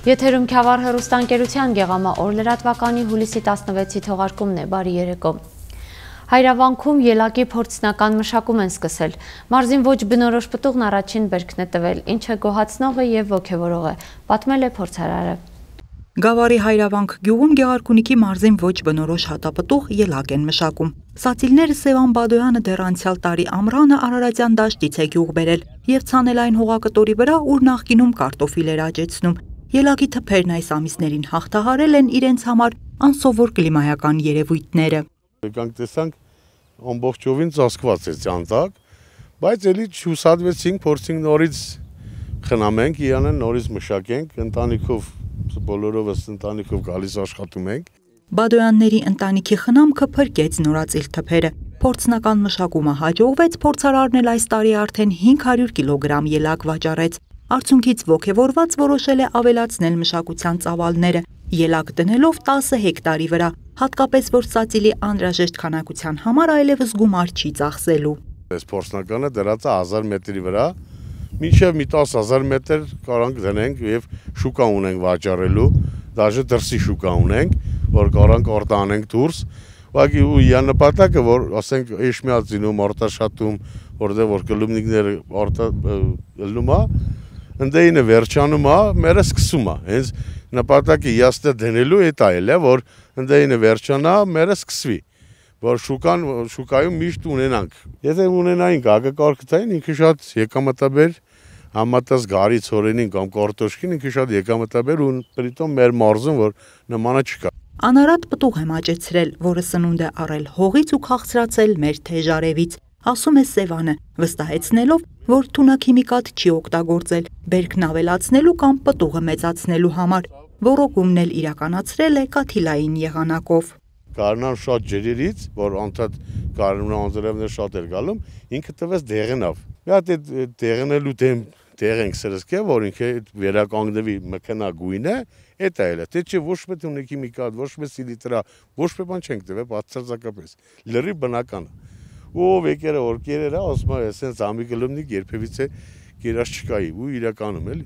Եթերում Քյավառ հեռուստաընկերության գեղամա օր լրատվականի հուլիսի 16-ի թողարկումն է, բարի երեկո։ Հայրավանքում ելակի փորձնական մշակում են սկսել։ Մարզին ոչ բնորոշ պտուղն առաջին բերքն է տվել, ինչը գոհացնող է և ոգևորող է, պատմել է փորձարարը։ Գավառի Հայրավանք գյուղում Գեղարքունիքի մարզին ոչ բնորոշ հատապտուղ ելակ են մշակում։ Սացիլները Սևան Բադոյանը դեռ անցյալ տարի ամռանը Արարատյան դաշտից է գյուղ բերել և ցանել այն հողակտորի վրա, ուր նախկինում կարտոֆիլ էր աճեցնում։ Ելակի թփերն այս ամիսներին հաղթահարել են իրենց համար անսովոր կլիմայական երևույթները։ Եկանք տեսանք ամբողջովին ծածկված է ծանծակ, բայց էլի չհուսադվեցինք, փորձենք նորից խնամենք, իրանեն նորից մշակենք, ընտանիքով բոլորովս ընտանիքով գալիս աշխատում ենք։ Բադոյանների ընտանիքի խնամքը փրկեց նորածիլ թփերը։ Փորձնական մշակումը հաջողվեց, փորձարարն էլ այս տարի արդեն 500 կիլոգրամ ելակ վաճառեց։ Արդյունքից ոգևորված որոշել է ավելացնել մշակության ծավալները, ելակ դնելով 10 հեկտարի վրա, հատկապես որ սացիլի անհրաժեշտ քանակության համար այլևս գումար չի ծախսելու։ Այս փորձնականը դրած է 1000 մետրի վրա, մինչև մի 10,000 մետր կարանք դնենք և շուկա ունենք վաճառելու, դաժե դրսի շուկա ունենք, որ կարանք արտանենք դուրս, ուղղակի ու նպատակը, որ ասենք Էշմիածինում, Արտաշատում, որտեղ որ կլումնիկները ելնում է, ընդեինը վերջանում է, մերը սկսում է, հենց նպատակը իաստը դնելու էտ այլ է, որ ընդեինը վերջանա, մերը սկսվի, որ շուկայում միշտ ունենանք։ Եթե ունենայինք ագակարգթային, ինքը շատ եկամտաբեր, համատած գարի ցորենին կամ կարտոշկին, ինքը շատ եկամտաբեր ու պրիտոմ մեր մարզում, որ նմանը չկա։ Անարատ պտուղ եմ աճեցրել, որը սնունդ է առել հողից ու քաղցրացել մեր թեժ արևից, ասում է Սևանը, վստահեցնելով, որ թունաքիմիկատ չի օգտագործել, բերքն ավելացնելու կամ պտուղը մեծացնելու համար, ոռոգումն էլ իրականացրել է կաթիլային եղանակով։ Գարնան շատ ջրերից, որ անդադ գարնան անձրևներ շատ էր գալում, ինքը տվեց դեղնավ։ Մի հատ այդ դեղնելու դեղ ենք սրսկե, որ ինքը վերականգնվի մքնագույն է, էդ այլ է, թե չէ ոչ մի թունաքիմիկատ, ոչ մի սիլիտրա, ոչ մի բան չենք տվել, բացարձակապես, լրիվ բնական է։ Ով եկերը որ կերերը, ասում է, այսենց ամի կլումնիկ երբևիցե կերած չկայի ու իրականում էլի։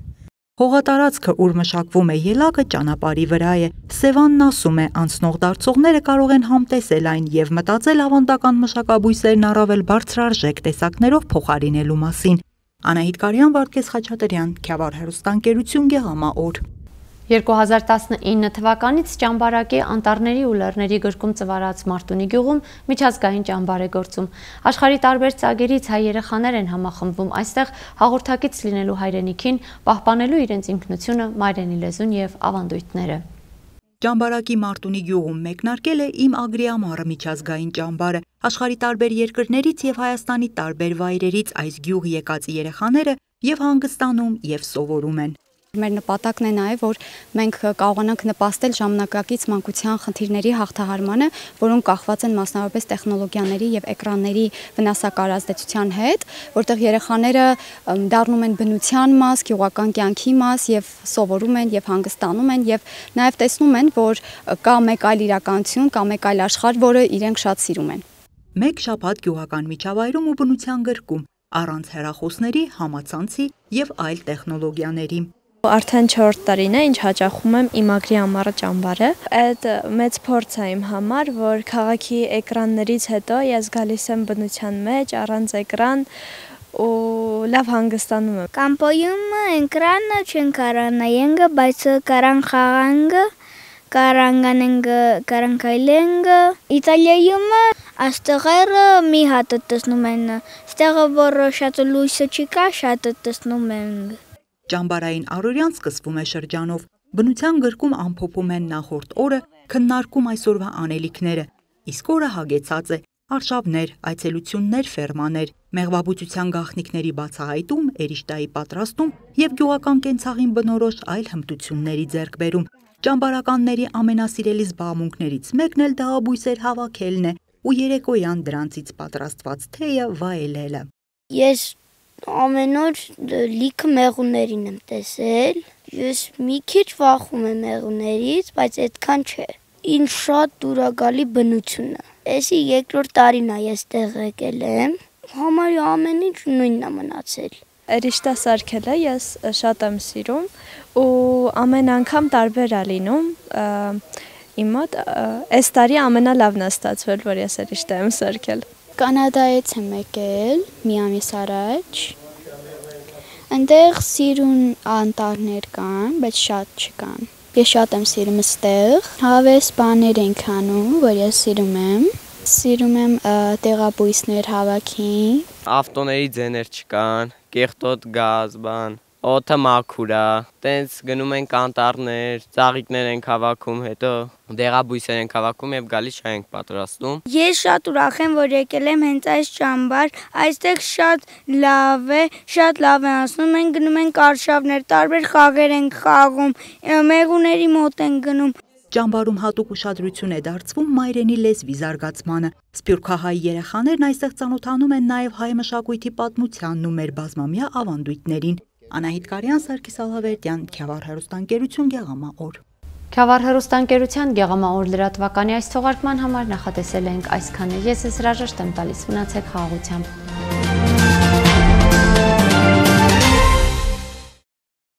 Հողատարածքը, ուր մշակվում է ելակը, ճանապարհի վրա է։ Սևանն ասում է, անցնող դարձողները կարող են համտեսել այն և մտածել ավանդական մշակաբույսերն առավել բարձրարժեք տեսակներով փոխարինելու մասին։ Անահիտ Կարյան, Վարդգես Խաչատրյան, Քյավառ հեռուստաընկերություն, գեղամա օր։ 2019 թվականից ճամբարակի անտառների ու լեռների գրկում ծվարած Մարտունի գյուղում միջազգային ճամբար է գործում։ Աշխարհի տարբեր ծագերից հայ երեխաներ են համախմբվում այստեղ հաղորդակից լինելու հայրենիքին, պահպանելու իրենց ինքնությունը, մայրենի լեզուն և ավանդույթները։ Ճամբարակի Մարտունի գյուղում մեկնարկել է «Իմ Ագրիամարը» միջազգային ճամբարը։ Աշխարհի տարբեր երկրներից և Հայաստանի տարբեր վայրերից այս գյուղ եկած երեխաները և հանգստանում, և սովորում են։ Մեր նպատակն է նաև, որ մենք կարողանանք նպաստել ժամանակակից մանկության խնդիրների հաղթահարմանը, որոնք կախված են մասնավորապես տեխնոլոգիաների եւ էկրանների վնասակար ազդեցության հետ, որտեղ երեխաները դառնում են բնության մաս, գյուղական կյանքի մաս եւ սովորում են եւ հանգստանում են եւ նաև տեսնում են, որ կա մեկ այլ իրականություն, կա մեկ այլ աշխարհ, որը իրենք շատ սիրում են։ Մեկ շաբաթ գյուղական միջավայրում ու բնության գրկում, առանց հեռախոսների, համացանցի եւ այլ տեխնոլոգիաների։ Արդեն 4 տարին է, ինչ հաճախում եմ «Իմ Ագրիամարը» ճամբարը։ Այդ մեծ փորձ է իմ համար, որ քաղաքի էկրաններից հետո ես գալիս եմ բնության մեջ, առանց էկրան ու լավ հանգստանում եմ։ Կամպոյում էկրանը չեն կարանայենք, բայց կարան խաղանք, կարանքայլենք։ Իտալիայում աստղերը մի հատ տեսնում են, ստեղը որ շատ լույսը չկա, շատ տեսնում ենք։ Ճամբարային առօրյան սկսվում է շրջանով, բնության գրկում ամփոփում են նախորդ օրը, քննարկում այսօրվա անելիքները, իսկ օրը հագեցած է արշավներ, այցելություններ, ֆերմաներ, մեղվաբուծության գաղտնիքների բացահայտում, էրիշտայի պատրաստում և գյուղական կենցաղին բնորոշ այլ հմտությունների ձեռքբերում։ Ճամբարականների ամենասիրելի զբաղմունքներից մեկն էլ դահաբույսեր հավաքելն է ու երեկոյան դրանցից պատրաստված թեյը վայելելը։ Ես ամեն օր լիքը մեղուներին եմ տեսել, ես մի քիչ վախում եմ մեղուներից, բայց այդքան չէ։ Ինձ շատ դուր է գալի բնությունը։ Էսի երկրորդ տարին է ես տեղ եկել եմ, համարյա ամեն ինչ նույնն է մնացել։ Էրիշտա սարքելը ես շատ եմ սիրում ու ամեն անգամ տարբեր է լինում։ Իմ մոտ այս տարի ամենալավն է ստացվել, որ ես էրիշտա եմ սարքել։ Կանադայից եմ եկել մի ամիս առաջ։ Այնտեղ սիրուն անտառներ կան, բայց շատ չկան։ Ես շատ եմ սիրում այստեղ։ Հավես բաներ ենք անում, որ ես սիրում եմ։ Սիրում եմ տեղաբույսներ հավաքին։ Ավտոների ձեներ չկան, կեղտոտ գազ, բան, օդը մաքուր է, տենց գնում ենք անտառներ, ծաղիկներ ենք հավաքում, հետո դեղաբույսեր ենք հավաքում եւ գալիս շահ ենք պատրաստում։ Ես շատ ուրախ եմ, որ եկել եմ հենց այս ճամբար, այստեղ շատ լավ է անցնում, մենք գնում ենք արշավներ, տարբեր խաղեր ենք խաղում, մեղուների մոտ ենք գնում։ Ճամբարում հատուկ ուշադրություն է դարձվում մայրենի լեզվի զարգացմանը։ Սփյուռքահայ երեխաներն այստեղ ծանոթանում են նաև հայ մշակույթի պատմությանն ու մեր բազմամյա ավանդույթներին։ Անահիտ Կարյան, Սարգիս Ալավերդյան, Քյավառ հեռուստաընկերություն, Գեղամա օր։ Քյավառ հեռուստաընկերության Գեղամա օր լրատվականի այս թողարկման համար նախատեսել ենք այսքանը։ Ես հրաժեշտ եմ տալիս, մնացեք խաղաղությամբ։